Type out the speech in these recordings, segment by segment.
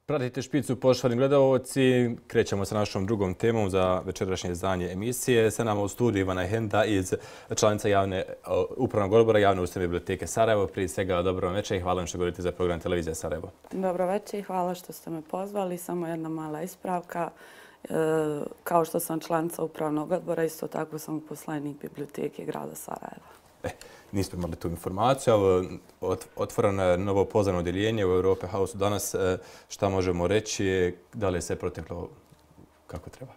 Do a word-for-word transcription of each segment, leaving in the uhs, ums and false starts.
Pratite Špicu, poštovani gledalci. Krećemo sa našom drugom temom za večerašnje izdanje emisije. Sa nama u studiju Ivana Henda, iz članica javne, upravnog odbora Javne ustanove biblioteke Sarajevo. Prije svega, dobro večer i hvala vam što govorite za program Televizije Sarajevo. Dobro večer i hvala što ste me pozvali. Samo jedna mala ispravka. Kao što sam članica upravnog odbora, isto tako sam uposlenik biblioteke grada Sarajeva. E, nismo imali tu informaciju, ali otvoreno je novo pozivno odjeljenje u Europe House danas. Šta možemo reći? Da li je sve proteklo kako treba?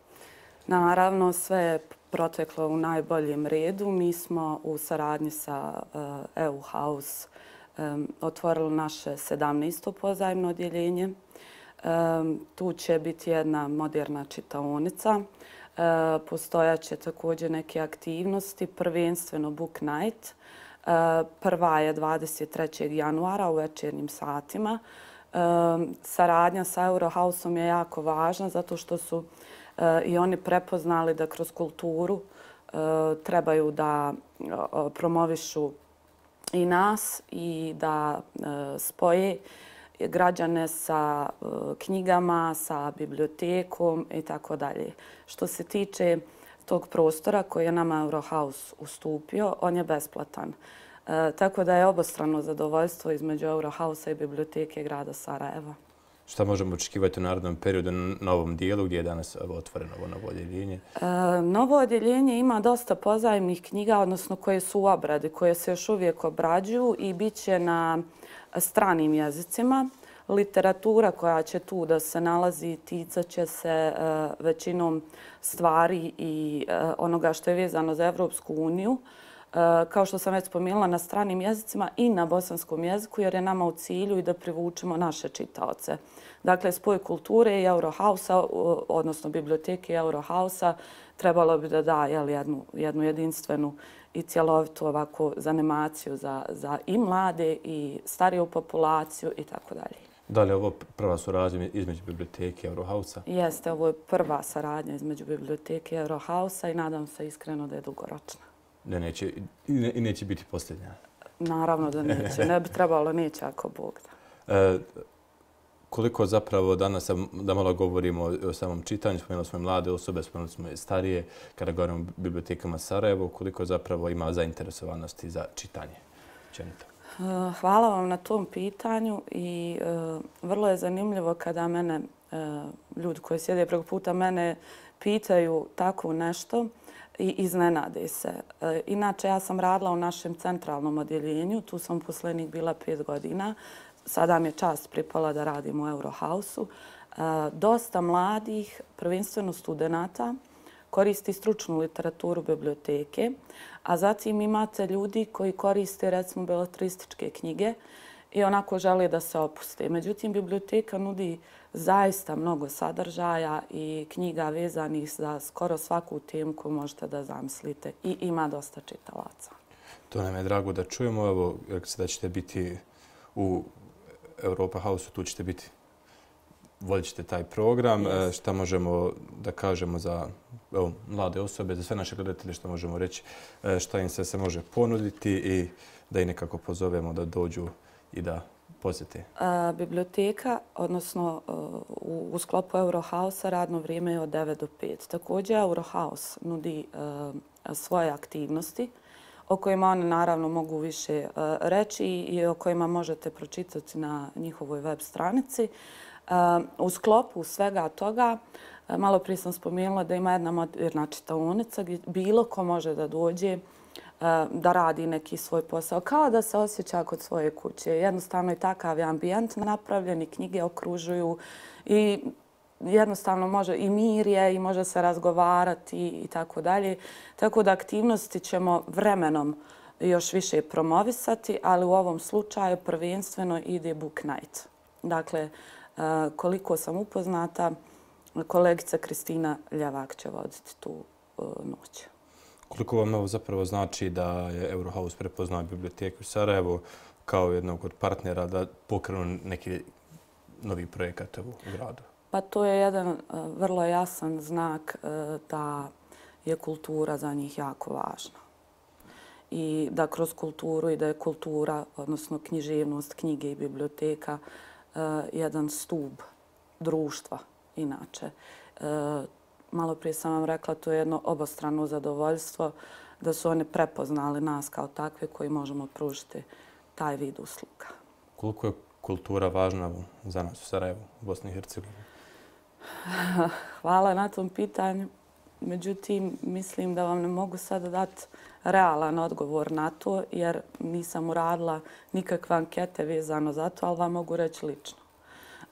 Naravno, sve je proteklo u najboljem redu. Mi smo u saradnji sa E U House otvorili naše sedamnaesto pozajmno odjeljenje. Tu će biti jedna moderna čitaonica. Postojaće također neke aktivnosti, prvenstveno Book Night. Prva je dvadeset trećeg januara u večernjim satima. Saradnja sa Eurohausom je jako važna zato što su i oni prepoznali da kroz kulturu trebaju da promovišu i nas i da spoje građane sa knjigama, sa bibliotekom i tako dalje. Što se tiče tog prostora koji je nama Eurohouse ustupio, on je besplatan. Tako da je obostrano zadovoljstvo između Eurohouse i biblioteke grada Sarajeva. Šta možemo očekivati u narednom periodu na ovom dijelu gdje je danas otvoreno ovo novo odjeljenje? Novo odjeljenje ima dosta pozajmnih knjiga, odnosno koje su u obradi, koje se još uvijek obrađuju i bit će na stranim jezicima. Literatura koja će tu da se nalazi ticat će se većinom stvari i onoga što je vezano za Evropsku uniju. Kao što sam već spomenula, na stranim jezicima i na bosanskom jeziku, jer je nama u cilju i da privučemo naše čitaoce. Dakle, spoj kulture i Eurohausa, odnosno biblioteke Eurohausa, trebalo bi da da jednu, jednu jedinstvenu i cjelovitu ovako zanimaciju za, za i mlade i stariju populaciju i tako dalje. Da li je ovo prva suradnja između biblioteke i Eurohausa? Jeste, ovo je prva saradnja između biblioteke i Eurohausa i nadam se iskreno da je dugoročna. Da neće, i neće biti posljednja? Naravno da neće. Ne bi trebalo, neće ako Bog da. E, koliko zapravo danas, da malo govorimo o samom čitanju, spomenuli smo mlade osobe, spomenuli smo i starije, kada govorimo o bibliotekama Sarajevo, koliko zapravo ima zainteresovanosti za čitanje? Čenito. Hvala vam na tom pitanju i uh, vrlo je zanimljivo kada mene, uh, ljudi koji sjede preko puta mene, pitaju tako nešto i iznenade se. Uh, inače, ja sam radila u našem centralnom odjeljenju, tu sam uposlenik bila pet godina. Sada mi je čast pripala da radim u Eurohausu. Uh, dosta mladih, prvenstveno studenata, koristi stručnu literaturu biblioteke, a zatim imate ljudi koji koriste recimo beletrističke knjige i onako žele da se opuste. Međutim, biblioteka nudi zaista mnogo sadržaja i knjiga vezanih za skoro svaku temu koju možete da zamislite i ima dosta čitalaca. To nam je drago da čujemo. Evo, rekli ste da ćete biti u Europa House-u, tu ćete biti, vodit ćete taj program. Yes. Šta možemo da kažemo za evo, mlade osobe, za sve naše gledatelje, što možemo reći, šta im se, se može ponuditi i da ih nekako pozovemo da dođu i da posjete? A, biblioteka, odnosno u, u sklopu Eurohouse-a radno vrijeme je od devet do pet. Također Eurohouse nudi a, svoje aktivnosti o kojima oni naravno mogu više a, reći i o kojima možete pročitati na njihovoj web stranici. U sklopu svega toga, malo prije sam spomenula da ima jedna moderna čitaonica gdje bilo ko može da dođe da radi neki svoj posao, kao da se osjeća kod svoje kuće. Jednostavno je takav ambijent napravljen i knjige okružuju i jednostavno može i mir je i može se razgovarati i tako dalje. Tako da aktivnosti ćemo vremenom još više promovisati, ali u ovom slučaju prvenstveno ide Book Night. Dakle, koliko sam upoznata, kolegica Kristina Ljevak će voditi tu noć. Koliko vam ovo zapravo znači da je Eurohouse prepoznao biblioteku u Sarajevu kao jednog od partnera da pokrenu neki novi projekat u gradu? Pa to je jedan vrlo jasan znak da je kultura za njih jako važna. I da kroz kulturu i da je kultura, odnosno književnost, knjige i biblioteka, jedan stub društva inače. Malo prije sam vam rekla, to je jedno obostrano zadovoljstvo da su oni prepoznali nas kao takve koji možemo pružiti taj vid usluga. Koliko je kultura važna za nas u Sarajevu, u Bosni i Hercegovini? Hvala na tom pitanju. Međutim, mislim da vam ne mogu sada dati realan odgovor na to, jer nisam uradila nikakve ankete vezano za to, ali vam mogu reći lično.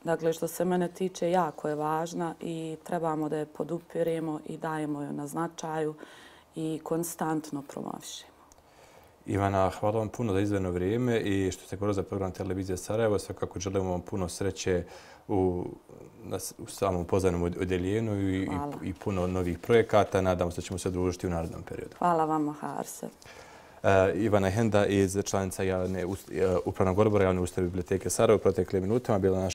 Dakle, što se mene tiče, jako je važna i trebamo da je podupiremo i dajemo joj na značaju i konstantno promovišemo. Ivana, hvala vam puno za izdvojeno vrijeme i što ste govorili za program Televizije Sarajevo. Svakako želimo vam puno sreće u, na, u samom pozvanom odjeljenju i, i, i puno novih projekata. Nadamo se da ćemo se družiti u narednom periodu. Hvala vama, Harse. Uh, Ivana Henda iz članica javne, uh, Upravnog odbora Javne ustanove biblioteke Sarajevo u proteklim minutama bila naša